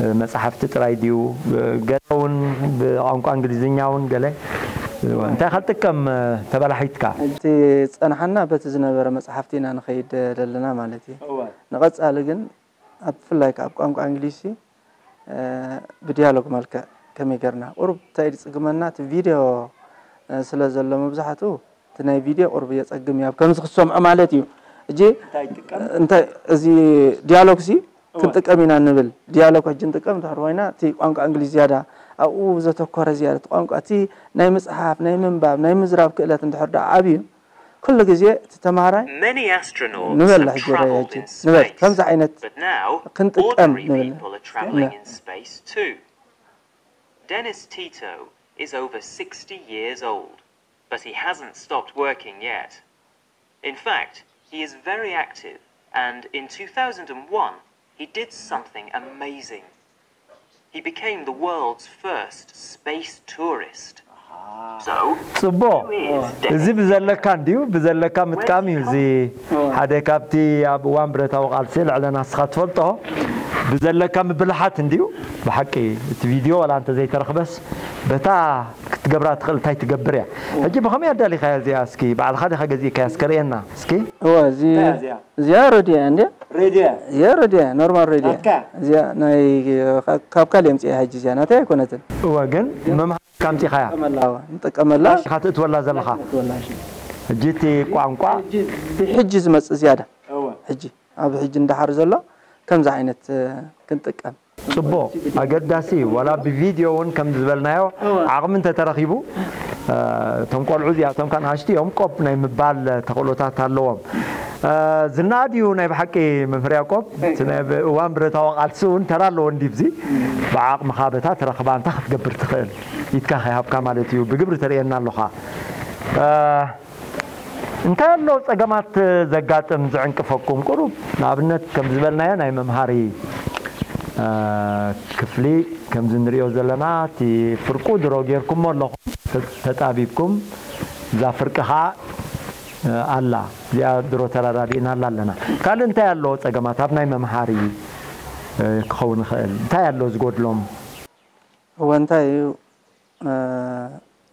እ፣ መጻሕፍቲ ጥራይ ድዩ? እ፣ ገለ እውን ብቋንቋ እንግሊዝኛ እውን ገለ፣ እ፣ እንታይ ኢኻ ትጥቀም፣ እ፣ ተበላሒትካ? እቲ ዝጸንሓና በቲ ዝነበረ መጻሕፍቲ ኢና ንኸይድ ዘለና ማለት እዩ። እወ። ንቐጻሊ ግን ኣብ ብፍላይ ከኣ ኣብ ቋንቋ እንግሊዝሲ፣ እ፣ ብዲያሎግ መልክዕ ከመይ ጌርና ቁሩብ እንታይ ድጽግመና እቲ ቪድዮ፣ እ፣ ስለ ዘሎ መብዛሕትኡ እቲ ናይ ቪድዮ ቁሩብ የጸግም እዩ፣ ኣብ ከምዚ ክትሰምዖ ማለት እዩ። እጂ እንታይ ይጥቀም? እንታይ እዚ ዲያሎግሲ እወ። ክንጥቀም ኢና ንብል። ዲያሎግ ሕጂ ንጥቀም እንድሕር ኮይና እቲ ቋንቋ እንግሊዝ ዝያዳ ኣብኡ ዘተኮረ ዝያዳ እቲ ቋንቋ እቲ ናይ ምጽሓፍ፣ ናይ ምንባብ፣ ናይ ምዝራብ ክእለት እንድሕር ደኣ ዓብዩ ኩሉ ግዜ እቲ ተማሃራይ Many astronauts ንበል have ሕጂ ርኣይ traveled ሕጂ in ንበል space, ከምዚ ዓይነት but now ክንጥቀም ordinary ንብል people are traveling ን- in space too. Dennis Tito is over sixty years old, but he hasn't stopped working yet. In fact, he is very active, and in two thousand one, he did something amazing. He became the world's first space tourist. So, ጽቡቕ። Who is እዚ Dennis? ብዘለካ እንድዩ፣ ብዘለካ ምጥቃም እዩ። እዚ ሓደ ካብቲ ኣብ እዋን ብረታዊ ቃልሲ ልዕለ ናስኻ ትፈልጦ ብዘለካ ምብልሓት እንድዩ። ብሓቂ እቲ ቪድዮ ዋላ እንተ ዘይተረኽበስ በታ ክትገብራ ትኽእል እንታይ ትገብር እያ። ሕጂ ብኸመይ ኣዳሊኻያ እዚኣ? እስኪ ባዕልኻ ዲኻ ገዚእካያ? እስከ ርእየና እስኪ። እወ፣ እዚ እንታይ እያ እዚኣ? እዚኣ ሬድዮ እያ እንዴ? ሬድዮ እያ? እዚኣ ሬድዮ እያ፣ ኖርማል ሬድዮ እያ። ናትካ? እዚኣ ናይ፣ ካብ፣ ካብ ካልእ የምፅኣ ሕጂ እዚኣ ናተይ ኣይኮነትን። እወ፣ ግን መምሃሪ ካምፂኻያ? ንጥቀመላ፣ እወ፣ ንጥቀመላ። እሺ፣ ኢኻ ትእትወላ ዘለኻ? ትእትወላ፣ እሺ። ሕጂ እቲ ቋንቋ ሕጂ ብሕጂ ዝመፅእ ዝያዳ። እወ። ሕጂ፣ ኣብ ሕጂ እንዳሓር ዘሎ ከምዚ ዓይነት፣ እ፣ ክንጥቀም። ጽቡቕ፣ ኣገዳሲ እዩ። ዋላ ብቪድዮ እውን ከም ዝበልናዮ እወ። ዓቕሚ እንተተረኺቡ፣ እ፣ እቶም ቆልዑ እዚኣቶም ከኣ ንኣሽቱ እዮም፣ ቆብ ናይ ምባል ተኽእሎታት ኣለዎም። እ፣ ዝነኣድ እዩ ናይ ብሓቂ መምህር ያዕቆብ። እቲ ናይ ብ-፣ እዋን ብረታዊ ቃልሲ እውን ተራ ኣለዎ እንዲብዚ። ብዓቕምኻ በታ ትረኽባ እንታይ ክትገብር ትኽእል? ኢድካ ከይሃብካ ማለት እዩ። ብግብሪ ተርእየና ኣለኻ። እ፣ እንታይ ኣሎ ጸገማት ዘጋጥም ዝዕንቅፈኩም? ቁሩብ ንኣብነት ከም ዝበልናዮ ናይ መምሃሪ፣ እ፣ ክፍሊ ከምዚ ንሪኦ ዘለና እቲ ፍርቁ ድሮ ጌርኩሞ ኣለኹም፣ ተ-፣ ተጣቢብኩም እዛ ፍርቂ ኸኣ፣ እ፣ ኣላ። እዚኣ ድሮ ተረዳዲእናላ ኣለና። ካልእ እንታይ ኣሎ ጸገማት ኣብ ናይ መምሃሪ፣ እ፣ ክኸውን ይኽእል? እንታይ ኣሎ ዝጎድሎም? እወ፣ እንታይ እዩ? እ፣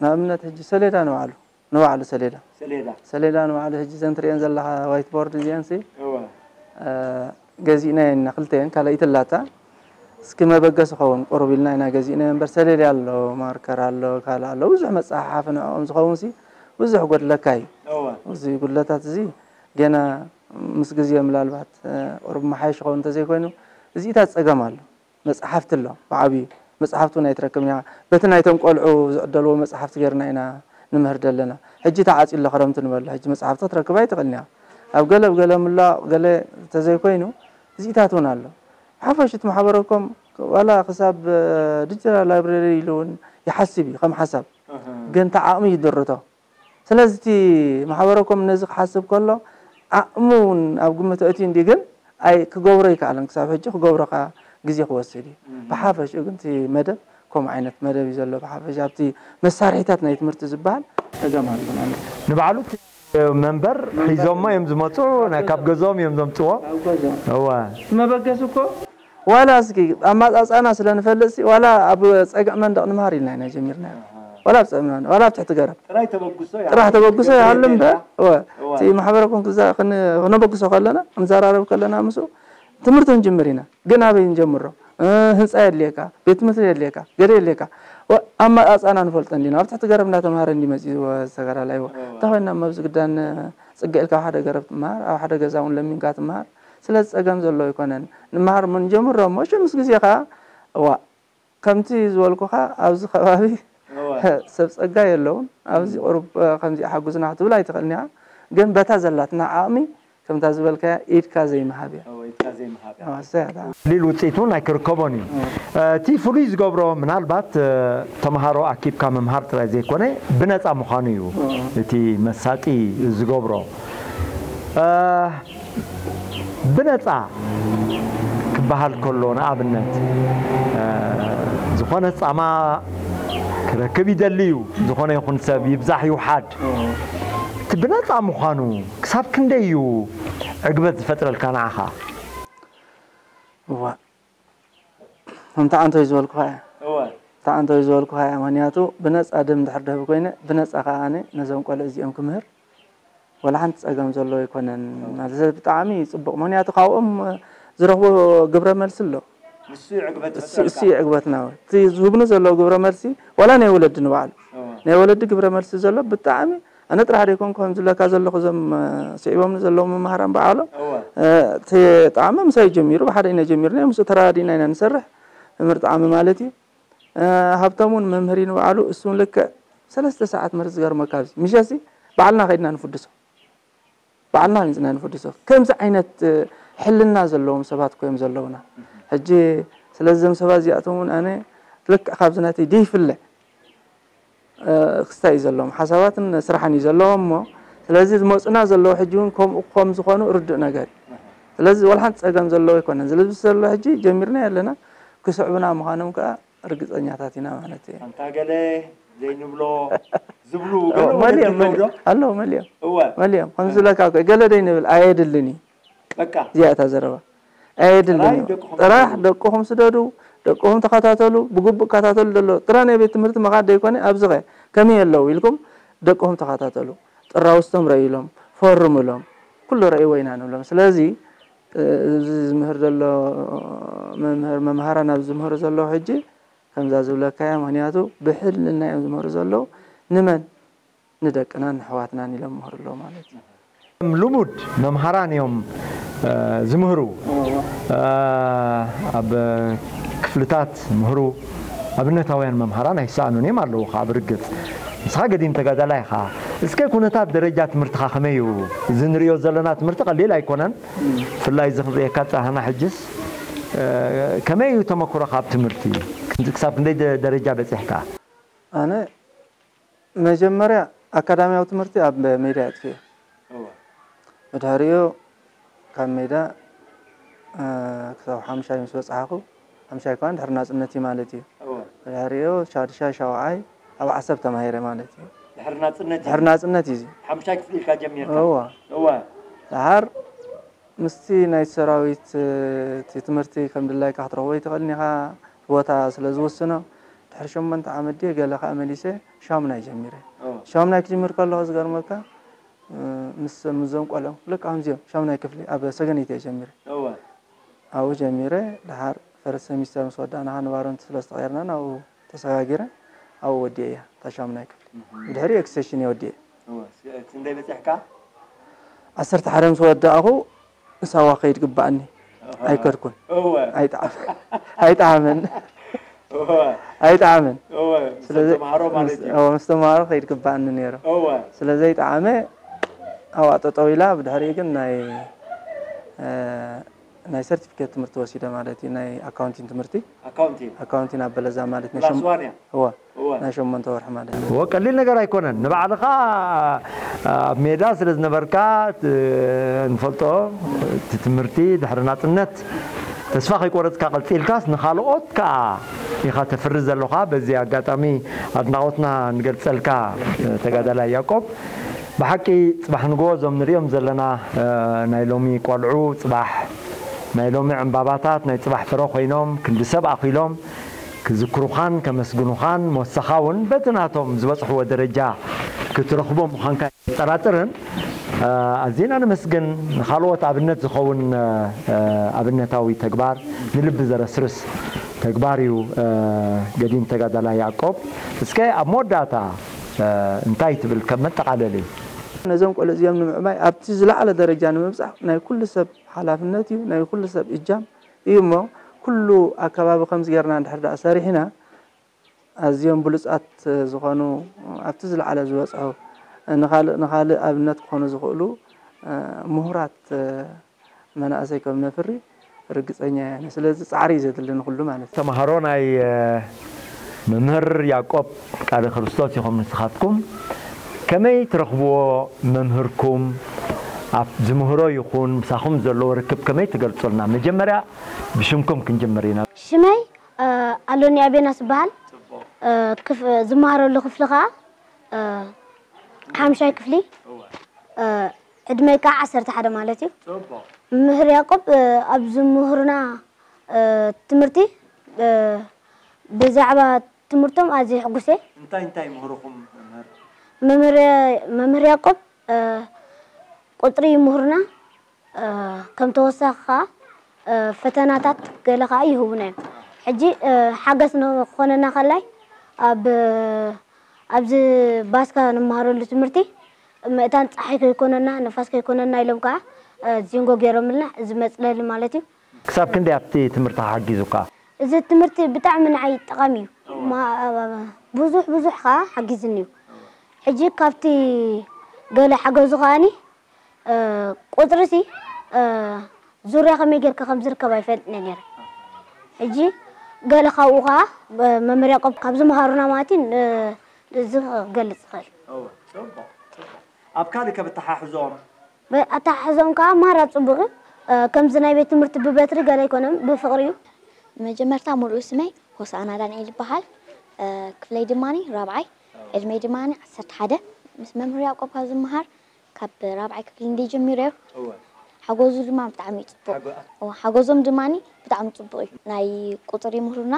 ንኣብነት ሕጂ ሰሌዳ ንባዕሉ፣ ንባዕሉ ሰሌዳ። ሰሌዳ። ሰሌዳ ንባዕሉ ሕጂ እዘን ትርእየን ዘለኻ ዋይት ቦርድ እዚአንሲ፣ እወ። እ፣ ገዚእናየን ኢና ክልተየን፣ ካልኣይቲ ኣላታ። እስኪ መበገሲ ኸውን ቁሩብ ኢልና ኢና ገዚእናዮ እምበር ሰሌዳ ኣሎ፣ ማርከር ኣሎ፣ ካልእ ኣሎ፣ ብዙሕ መጸሓሓፊ ንዕኦም ዝኸውንሲ ብዙሕ ጎድለካ እዩ። እዚ ጉድለታት እዚ ገና ምስ ግዜ ምናልባት ቁሩብ መሓየሽ ክኸውን እንተዘይኮይኑ እዚኢታት ጸገም ኣሎ። መጽሓፍቲ ኣሎ ብዓብዩ መጽሓፍቲ እውን ኣይትረክብን ኢኻ። በቲ ናይቶም ቆልዑ ዝዕደልዎ መጽሓፍቲ ጌርና ኢና ንምህር ዘለና። ሕጂ ተዓጽዩ ኣሎ ክረምቲ ንበሎ። ሕጂ መጽሓፍቲ ክትረክብ ኣይትኽእልን ኢኻ። ኣብ ገለ ብገለ ምላቕ ገለ እንተዘይኮይኑ እዚኢታት እውን ኣሎ። ሓፈሽ እቲ ማሕበረኮም ዋላ ክሳብ ዲጂታል ላይብረሪ ኢሉ እውን ይሓስብ እዩ ከም ሓሳብ። ግን እቲ ዓቕሚ ይድርቶ። ስለዚ እቲ ማሕበረኮም ነዚ ክሓስብ ከሎ ዓቕሙ እውን ኣብ ግምት ኣእትዩ እንዲ ግን ኣይ ክገብሮ ይከኣልን ክሳብ ሕጂ ክገብሮ ከኣ ግዜ ክወስድ እዩ። ብሓፈሽኡ ግን እቲ መደብ ከምኡ ዓይነት መደብ እዩ ዘሎ። ብሓፈሽ ኣብቲ መሳርሒታት ናይ ትምህርቲ ዝበሃል ጸገም ኣሎ ማለት እዩ። ንባዕሉ እቲ መንበር ሒዞሞ እዮም ዝመፁ፣ ናይ ካብ ገዝኦም እዮም ዘምፅዎ። ካብ ገዝኦም እወ መበገሲ እኮ ዋላ እስኪ ኣማፃፃና ስለ ንፈልጥ ሲ ዋላ ኣብ ፀግዒ መንደቕ ንመሃር ኢልና ኢና ጀሚርናዮ። ዋላ ኣብ ፀግዒ መንደቕ ዋላ ኣብ ትሕቲ ገረብ ጥራይ ተበግሶ ጥራሕ ተበግሶ ይሃሉ እምበር እወ እቲ ማሕበረ ኮንኩዛ ክነበግሶ ከለና ክንዘራረብ ከለና ምስኡ ትምህርቲ ክንጅምር ኢና። ግን ኣበይ ንጀምሮ? ህንፃ የድልየካ፣ ቤት ትምህርቲ የድልየካ፣ ገለ የድልየካ። ኣመፃፅኣና ንፈልጦ እንዲና። ኣብ ትሕቲ ገረብ እንዳተምሃረ እንዲ መፂኡ ተጋዳላይ። እንታይ ኮይና እሞ ኣብዚ ግዳን ፅግዕ ኢልካ ኣብ ሓደ ገረብ ትምሃር፣ ኣብ ሓደ ገዛ እውን ለሚንካ ትምሃር። ስለዚ ፀገም ዘሎ ኣይኮነን። ንምሃር እሞ ንጀምሮ እሞ እሺ ምስ ግዜ ከዓ እዋእ ከምቲ ዝበልኩኻ ኣብዚ ከባቢ ሰብ ፀጋ የለውን። ኣብዚ ቁሩብ ከምዚ ሓጉዝና ክትብል ኣይትኽእልን ኢኻ። ግን በታ ዘላትና ዓቕሚ ከምታ ዝበልካያ ኢድካ ዘይምሃብ እያ። እወ፣ ኢድካ ዘይምሃብ እያ። እወ፣ እሰይ ኣታ። ቀሊል ውፅኢት እውን ኣይክርከቦን እዩ። እቲ ፍሉይ ዝገብሮ ምናልባት ተምሃሮ ኣኪብካ ምምሃር ጥራይ ዘይኮነ ብነፃ ምዃኑ እዩ እቲ መሳጢ ዝገብሮ። ብነፃ ክበሃል ከሎ ንኣብነት ዝኾነ ፃማ ክረክብ ይደሊ እዩ። ዝኾነ ይኹን ሰብ ይብዛሕ ይውሓድ እቲ ብነፃ ምዃኑ ክሳብ ክንደይ እዩ ዕግበት ዝፈጥረልካ ንዓኻ? እዋእ ከምቲ ዓንቶይ ዝበልኩኻ እያ። እወ። ከምቲ ዓንቶይ ዝበልኩኻ እያ። ምኽንያቱ ብነፃ ደም እንድሕር ደህቢ ኮይነ ብነፃ ከዓ ኣነ ነዞም ቆልዑ እዚኦም ክምህር ዋላ ሓንቲ ፀገም ዘለዎ ኣይኮነን። ማለት ብጣዕሚ ፅቡቕ። ምኽንያቱ ካብኦም ዝረኽቦ ግብረ መልሲ ኣሎ። ንሱ እዩ ዕግበት ዝፈጥረልካ። ንሱ እዩ ዕግበትና። እቲ ዝህቡኒ ዘለዉ ግብረ መልሲ ዋላ ናይ ወለዲ ንባዕሉ ናይ ወለዲ ግብረ መልሲ ዘሎ ብጣዕሚ ኣነ ጥራሕ ደይኮንኩ ከምዚ ለካ ዘለኹ እዞም ስዒቦምኒ ዘለዉ መምሃራን ባዕሎም እቲ ጣዕሚ ምሳይ ጀሚሩ ብሓደ ኢና ጀሚርና ምስኡ ተረዳዲእና ኢና ንሰርሕ። መምህር ጣዕሚ ማለት እዩ። ሃብቶም እውን መምህር እዩ ንባዕሉ እሱ እውን ልክዕ ሰለስተ ሰዓት መርስ ዝገርመካ ኣብዚ ምሸሲ ባዕልና ከይድና ንፍድሶ። ባዕልና መፂና ንፍድሶ። ከምዚ ዓይነት ሕልና ዘለዎም ሰባት እኮ እዮም ዘለውና። ሕጂ ስለዚ እዞም ሰባት እዚኣቶም እውን ኣነ ልክዕ ካብዚ ናተይ ደይፍለ ክስታይ እዩ ዘለዎም፣ ሓሳባትን ስራሕን እዩ ዘለዎም እሞ ስለዚ ዝመፁና ዘለዉ ሕጂ እውን ከምኡ ከም ዝኾኑ ርዱእ ነገር እዩ። ስለዚ ዋላ ሓንቲ ፀገም ዘለዎ ኣይኮነን። ስለዚ ዘሎ ሕጂ ጀሚርናዮ ኣለና፣ ክስዕቡና ምዃኖም ከዓ ርግፀኛታት ኢና ማለት እየ። ኣንታ ገለ ዘይንብሎ ዝብሉ ገለ ወለዲ ኣለዉ ዶ? ኣለዉ መሊኦም እወ መሊኦም ከምዚ ዝብለካ እኮ ገለ ደይንብል ኣየድልን እዩ በቃ እዚኣ እታ ዘረባ ኣየድልን ጥራይ እዩ ደቅኹም ጥራሕ ስደዱ። ደቅኹም ስደዱ ደቅኹም ተኸታተሉ ብግቡእ ከታተሉ ደሎ ጥራሕ ናይ ቤት ትምህርቲ መኻድ ደይኮነ ኣብዚ ኸ ከመይ ኣለዉ ኢልኩም ደቅኹም ተኸታተሉ ጥራውስቶም ረእዩሎም ፈርሙሎም ኩሉ ረእይዎ ኢና ንብሎም ስለዚ እዚ ዝምህር ዘሎ መምህር መምሃራን ኣብዚ ዝምህሩ ዘለዉ ሕጂ ከምዛ ዝብለካያ ምኽንያቱ ብሕልንና እዮም ዝምህሩ ዘለዉ ንመን ንደቅናን ንሕዋትናን ኢሎም ይምህሩ ኣለዉ ማለት እዩ። ልሙድ መምሃራን እዮም ዝምህሩ ኣብ ክፍልታት ምህሩ ኣብነታውያን መምሃራን ኣይሰኣኑን እዮም ኣለዉ ከዓ ብርግፅ ንስኻ ገዲም ተጋዳላይ ኢኻ እስከ ኩነታት ደረጃ ትምህርትኻ ከመይ እዩ እዚ ንሪኦ ዘለና ትምህርቲ ቀሊል ኣይኮነን ብፍላይ እዚ ክንሪኤካ ፃህና ሕጅስ ከመይ እዩ ተመክሮኻ ኣብ ትምህርቲ ክሳብ ክንደይ ደረጃ በፂሕካ ኣነ መጀመርያ ኣካዳሚያዊ ትምህርቲ ኣብ ሜዳ ኣጥፊኤ። እወ። ብድሕሪኡ ካብ ሜዳ እ፣ ክሳብ ሓምሻይ ምስ በጻሕኹ፣ ሓምሻይ ከኣ ድሕሪ ናጽነት እዩ ማለት እዩ። እወ። ብድሕሪኡ ሻድሻይ ሻውዓይ ኣብ ዓሰብ ተማሂረ ማለት እዩ። ድሕሪ ናጽነት እዩ። ድሕሪ ናጽነት እዩ እዚ። ሓምሻይ ክፍሊ ኢልካ ጀሚርካ። እወ። እወ። ደሓር ምስቲ ናይ ሰራዊት እቲ ትምህርቲ ከም ድላይካ ክትረኽቦ ኣይትኽእልን ኢኻ፣ እቲ ቦታ ስለ ዝውስኖ። ድሕሪ ሸሞንተ ዓመት ድየ ገለ ከኣ መሊሰ ሻሙናይ ጀሚረ። ሻሙናይ ክጅምር ከለኹ ዝገርመካ ምስ ምስዞም ቆልዑ ልክዕ ከምዚኦም ሻሙናይ ክፍሊ ኣብ ሰገነይቲ እየ ጀሚረ። ኣብኡ ጀሚረ ደሓር ፈርስት ሰሚስተር ምስ ወዳእና ንባሮንት ስለ ዝተቐየርና ናብኡ ተሰጋጊረ ኣብኡ ወዲኤያ እታ ሻሙናይ ክፍሊ። ብድሕሪኡ ኤክስቴንሽን እየ ወዲኤ። እወ፣ ስ-፣ ክንደይ በጺሕካ? ዓሰርተ ሓደ ምስ ወዳእኹ ሳዋ ከይድ ግባኣኒ። ኣይከድኩን። እወ። ኣይጠዓም-፣ ኣይጠዓምን። እወ። ኣይጠዓምን። እወ፣ ምስ ስለዚ ተምሃሮ ማለት ምስ-፣ እዩ። እወ፣ ምስ ተምሃሮ ከይድ ግባኣኒ ነይሩ። እወ። ስለ ዘይጠዓመ ኣብኣ ጠጠው ኢላ፣ ብድሕሪኡ ግን ናይ፣ እ፣ ናይ ሰርቲፊኬት ትምህርቲ ወሲደ ማለት እዩ። ናይ ኣካውንቲን ትምህርቲ። ኣካውንቲን። ኣካውንቲን ኣብ በለዛ ማለት ናይ ክላስ ሸም-፣ ዋን እያ። እወ፣ እወ። ናይ ሸሞንተ ወርሒ ማለት እዩ። እወ፣ ቀሊል ነገር ኣይኮነን። ንባዕልኻ ኣብ ሜዳ ስለ ዝነበርካ፣ ት-፣ ንፈልጦ፣ እቲ ትምህርቲ ድሕሪ ናጽነት ተስፋ ከይቆረጽካ ቀጺልካስ፣ ንኻልኦት ከኣ ኢኻ ተፍሪ ዘሎኻ። በዚ ኣጋጣሚ ኣድናቖትና ንገልጸልካ፣ ተጋዳላይ ያቆብ። ብሓቂ ጽባሕ ንግሆ እዞም ንሪኦም ዘለና፣ እ፣ ናይ ሎሚ ቆልዑ፣ ጽባሕ ናይ ሎሚ ዕምባባታት፣ ናይ ጽባሕ ፍረ ኮይኖም፣ ክንዲ ሰብ ኣኺሎም ክዝክሩኻን ከመስግኑኻን፣ ሞሳኻ እውን በቲ ናቶም ዝበጽሕዎ ደረጃ ክትረኽቦ ምዃንካ ኣይጠራጥርን። እ፣ ኣዚና ነመስግን። ንኻልኦት ኣብነት ዝኸውን፣ እ፣ እ፣ ኣብነታዊ ተግባር፣ ንልቢ ዘረስርስ ተግባር እዩ፣ እ፣ ገዲም ተጋዳላይ ያዕቆብ። እስከ ኣብ መወዳእታ፣ እ፣ እንታይ ትብል ከም መጠቓለሊ? ነዞም ቆልዑ እዚኦም ንምዕባይ ኣብቲ ዝለዓለ ደረጃ ንምብጻሕ ናይ ኩሉ ሰብ ሓላፍነት እዩ፣ ናይ ኩሉ ሰብ እጃም እዩ። እሞ ኩሉ ኣከባቢ ከምዚ ጌርና እንድሕር ደኣ ሰሪሕና፣ ኣዝዮም ብሉጻት ዝኾኑ፣ ኣብቲ ዝለዓለ ዝበጽሑ፣ ንኻልእ፣ ንኻልእ ኣብነት ክኾኑ ዝኽእሉ፣ እ፣ ምሁራት፣ እ፣ መናእሰይ ከም ነፍሪ ርግጸኛ እየ። ስለዚ ጻዕሪ እዩ ዘድሊ ንኹሉ ማለት እዩ። ተምሃሮ ናይ፣ እ፣ መምህር ያዕቆብ ቃለ ክርስቶስ ኢኹም ንስኻትኩም። ከመይ ትረኽብዎ መምህርኩም? ኣብ ዝምህሮ ይኹን ምሳኹም ዘለዎ ርክብ ከመይ ትገልጹልና? መጀመርያ ብሽምኩም ክንጅምር ኢና። ሽመይ፣ እ፣ ኣሎኒ ኣቤናስ ይበሃል። እ፣ ክፍ-፣ ዝመሃረሉ ክፍሊ ኸኣ፣ እ፣ ሓምሻይ ክፍሊ፣ እ፣ ዕድመይ ከዓ ዓሰርተ ሓደ ማለት እዩ። መምህር ያዕቆብ፣ እ፣ ኣብ ዝምህሩና፣ እ፣ ትምህርቲ፣ እ፣ ብዛዕባ ትምህርቶም ኣዝየ ሕጉስ እየ። እንታይ እንታይ ይምህሩኹም መምህር? መምህር፣ መምህር ያዕቆብ፣ እ፣ ቁጽሪ ይምህሩና፣ እ፣ ከም ተወሳኺ ከኣ፣ እ፣ ፈተናታት ገለ ከኣ ይህቡና እዮም። ሕጂ፣ እ፣ ሓገዝ ንኽኾነና ከላይ ኣብ፣ ኣብዚ ባስካ ንመሃረሉ ትምህርቲ መእታን ጸሓይ ከይኮነና፣ ንፋስ ከይኮነና ኢሎም ከኣ፣ እ፣ ዚንጎ ገይሮምልና፣ እዚ መጽለሊ ማለት እዩ። ክሳብ ክንደይ ኣብቲ ትምህርቲ ሓጊዙካ? እዚ ትምህርቲ ብጣዕሚ ንዓይ ጠቓሚ እዩ። ማ-፣ ብዙሕ ብዙሕ ከኣ ሓጊዝኒ እዩ። ሕጂ ካብቲ ገለ ሓገዙ ከኣኒ፣ እ፣ ቁጽሪ ሲ፣ እ፣ ዙርያ ከመይ ጌርካ ከም ዝርከብ ኣይፈልጥን እየ ነይረ። ሕጂ ገለ ካብኡ ከኣ፣ እ፣ መምህር ያዕቆብ ካብ ዝመሃሩና ማለት እዩ፣ ን-፣ እዚ ክገልጽ ይኽእል። እወ፣ ጽቡቕ፣ ጽቡቕ። ኣብ ካልእ ከ ብተሓሕዞም? ብ-፣ ኣተሓሕዞም ከኣ ማራ ጽቡቕ እዩ። እ፣ ከምዚ ናይ ቤት ትምህርቲ ብበትሪ ገለ ኣይኮነን፣ ብፍቕሪ እዩ። መጀመርታ ሙሉእ ስመይ ሆሳዕና ዳንኤል ይበሃል። እ፣ ክፍለይ ድማኒ ራብዓይ፣ ዕድመይ ድማኒ ዓሰርተ ሓደ። ምስ መምህር ያዕቆብ ካብ ዝመሃር ካብ ራብዓይ ክፍሊ እንደ ጀሚረ እወ። ሓጎዙ ድማ ብጣዕሚ እዩ ጽቡቕ። ሓጎ-፣ እወ፣ ሓጎዞም ድማኒ ብጣዕሚ ጽቡቕ እዩ። ናይ ቁጽሪ ይምህሩና፣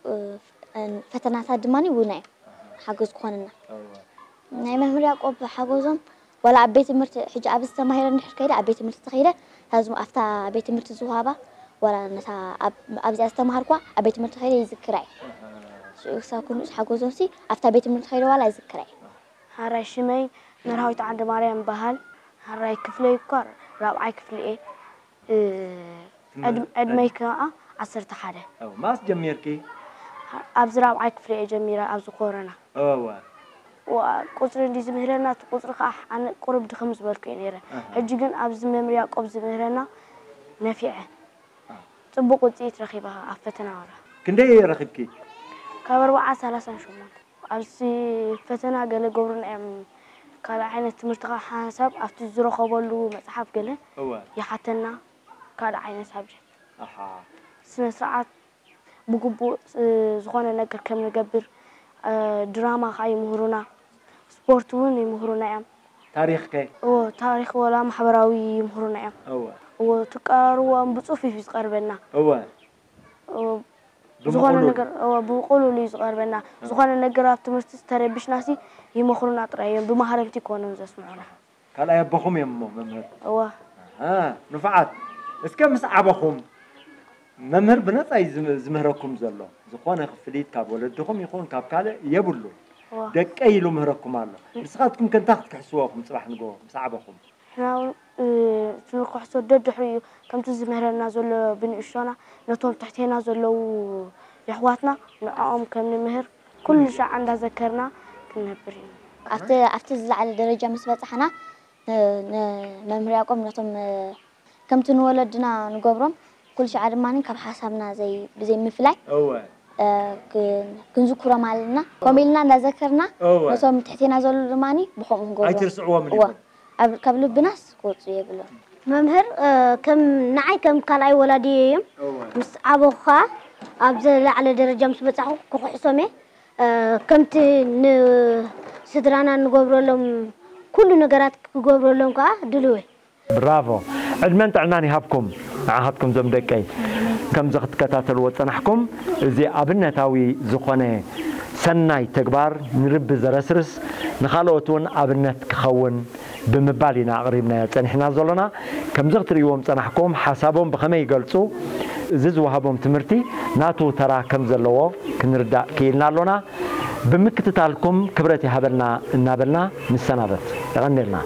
እ፣ ፈተናታት ድማኒ ውና እዮም ሓገዝ ክኾንና። እወ። ናይ መምህር ያዕቆብ ሓጎዞም ዋላ ኣብ ቤት ትምህርቲ፣ ሕጂ ኣብዚ ተማሂረ እንድሕር ከይደ፣ ኣብ ቤት ትምህርቲ ተኸይደ፣ እታ ዝም-፣ ኣብታ ቤት ትምህርቲ ዝወሃባ፣ ዋላ ነታ ኣብ-፣ ኣብዚኣ ዝተማሃርኳ ኣብ ቤት ትምህርቲ ከይደ ይዝክራ እየ። ሽዑ ክሳብ ክንኡስ ሓጎዞምሲ ኣብታ ቤት ትምህርቲ ከይደ ዋላ ይዝክራ እየ። ሃራይ ሽመይ መርሃዊት ዓንደ ማርያም ይበሃል። ሃራይ ክፍለይ እኳ ራብዓይ ክፍሊ እየ። እ፣ ትምህርቲ ዕድም-፣ ዕድመይ ከኣ ዓሰርተ ሓደ። ኣው፣ ማስ ጀሚርኪ? ኣብዚ ራብዓይ ክፍሊ እየ ጀሚረ፣ ኣብዚ ኮረና። እወ። ዋ-፣ ቁጽሪ እንድዩ ዝምህረና፣ እቲ ቁጽሪ ከኣ ኣነ ቁሩብ ድኽም ዝበልኩ እየ ነይረ። ኣሃ። ሕጂ ግን ኣብዚ መምህር ያዕቆብ ዝምህረና ነፊዐ። ኣሃ። ጽቡቕ ውጽኢት ረኺበ ኣብ ፈተና ወራ። ክንደይ ረኺብኪ? ካብ ኣርብዓ ሰላሳን ሸሞንተን። ኣብዚ ፈተና ገለ ገብሩና እዮም። ካልእ ዓይነት ትምህርቲ ከኣ ሓንሳብ ኣብቲ ዝረኸበሉ መጽሓፍ ገለ እወ። ይሓተና። ካልእ ዓይነት ሳብጀክት። ኣሓ። ስነ ስርዓት ብግቡእ፣ እ፣ ዝኾነ ነገር ከም ንገብር፣ እ፣ ድራማ ከኣ ይምህሩና፣ ስፖርት እውን ይምህሩና እዮም። ታሪኽ ከ? እወ፣ ታሪኽ ወላ ማሕበራዊ ይምህሩና እዮም። እወ። እወ፣ ትቀራርቦም ብጽፉፍ እዩ ዝቐርበና። እወ። እወ፣ ዝኾነ ብብቑሉል። ነገር፣ እወ፣ ብቑሉል እዩ ዝቐርበና። እወ። ዝኾነ ነገር ኣብ ትምህርቲ ዝተረብሽናሲ ይመኽሩና ጥራይ እዮም፣ ብማህረምቲ ይኮኑን ዘስምዑና። ካልኣይ ኣቦኹም እዮም እሞ መምህር? እወ። ኣሃ፣ ንፉዓት። እስከ ምስ ዓበኹም፣ መምህር ብነጻ እዩ ዝም-፣ ዝምህረኩም ዘሎ። ዝኾነ ክፍሊት ካብ ወለድኹም ይኹን ካብ ካልእ የብሉን። ደቀይ ኢሉ ምህረኩም ኣሎ። ንስኻትኩም ከ እንታይ ክትክሕስዎ ኢኹም ጽባሕ ንግሆ ምስ ዓበኹም? ሕና እውን እቲ ንክሕሶ ደድሕሪኡ ከምቲ ዝምህረና ዘሎ ብንእሽቶና ነቶም ትሕቴና ዘለዉ የሕዋትና ንዕኦም ከም ንምህር ኩሉ ሻዕ እንዳዘከርና ክንነብር ኢና። ኣብቲ ኣብቲ ዝለዓለ ደረጃ ምስ በጻሕና ንመምህር ያቆብ ነቶም ከምቲ ንወለድና ንገብሮም ኩሉ ሻዕ ድማ ካብ ሓሳብና ዘይ ብዘይ ምፍላይ እወ ክንዝክሮም ኣለና። ከምኡ ኢልና እንዳዘከርና እወ ነቶም ትሕቴና ዘለዉ ድማ ብኸምኡ ክንገብሮም ኣይትርስዕዎም እወ። ካብ ልብናስ ክወፁ የብሎም። መምህር ከም ንዓይ ከም ካልኣይ ወላዲ እዮም። ምስ ዓበኹ ከዓ ኣብ ዝለዓለ ደረጃ ምስ በፃኹ ክክሕሶም እየ። ከምቲ ንስድራና ንገብረሎም ኩሉ ነገራት ክገብረሎም ከዓ ድልው እየ። ብራቮ። ዕድመን ጥዕናን ይሃብኩም። ንዓኻትኩም ዞም ደቀይ ከምዚ ክትከታተልዎ ዝጸናሕኩም፣ እዚ ኣብነታዊ ዝኾነ ሰናይ ተግባር ንርቢ ዘረስርስ፣ ንኻልኦት እውን ኣብነት ክኸውን ብምባል ኢና ኣቕሪብናዮ ጸኒሕና ዘሎና። ከምዚ ክትርእይዎም ጸናሕኩም፣ ሓሳቦም ብኸመይ ይገልጹ፣ እዚ ዝወሃቦም ትምህርቲ ናቱ ተራ ከም ዘለዎ ክንርዳእ ክኢልና ኣሎና። ብምክትታልኩም ክብረት ይሃበልና እናበልና ንሰናበት። የቐንየልና።